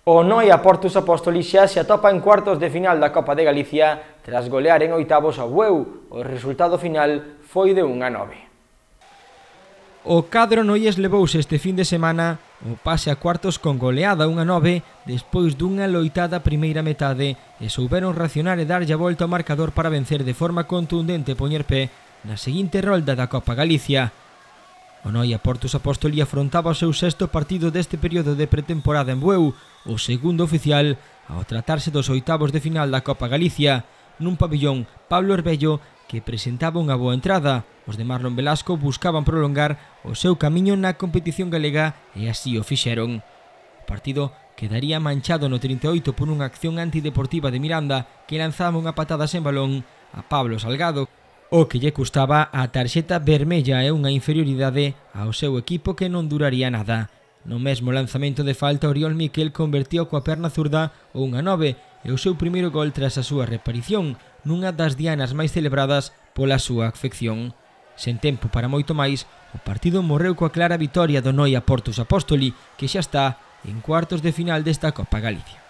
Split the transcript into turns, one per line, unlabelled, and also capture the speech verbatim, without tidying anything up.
O Noia Portus Apóstoli xa se atopa en cuartos de final da Copa de Galicia tras golear en oitavos ao Bueu. O resultado final foi de un a nove.
O cadro noies levouse este fin de semana o pase a cuartos con goleada un a nove despois dunha loitada primeira metade e souberon racionar e darlle a volta ao marcador para vencer de forma contundente e poñer pé na seguinte rolda da Copa Galicia. O Noia Portus Apóstoli afrontaba o seu sexto partido deste período de pretemporada en Bueu, o segundo oficial ao tratarse dos oitavos de final da Copa Galicia, nun pabillón Pablo Herbello que presentaba unha boa entrada. Os de Marlon Velasco buscaban prolongar o seu camiño na competición galega e así o fixeron. O partido quedaría manchado no trinta e oito por unha acción antideportiva de Miranda que lanzaba unha patada sen balón a Pablo Salgado, o que lle custaba a tarxeta vermella e unha inferioridade ao seu equipo que non duraría nada. No mesmo lanzamento de falta, Oriol Miquel convertiu coa perna zurda o un a nove e o seu primeiro gol tras a súa reaparición, nunha das dianas máis celebradas pola súa afección. Sen tempo para moito máis, o partido morreu coa clara vitoria do Noia Portus Apóstoli, que xa está en cuartos de final desta Copa Galicia.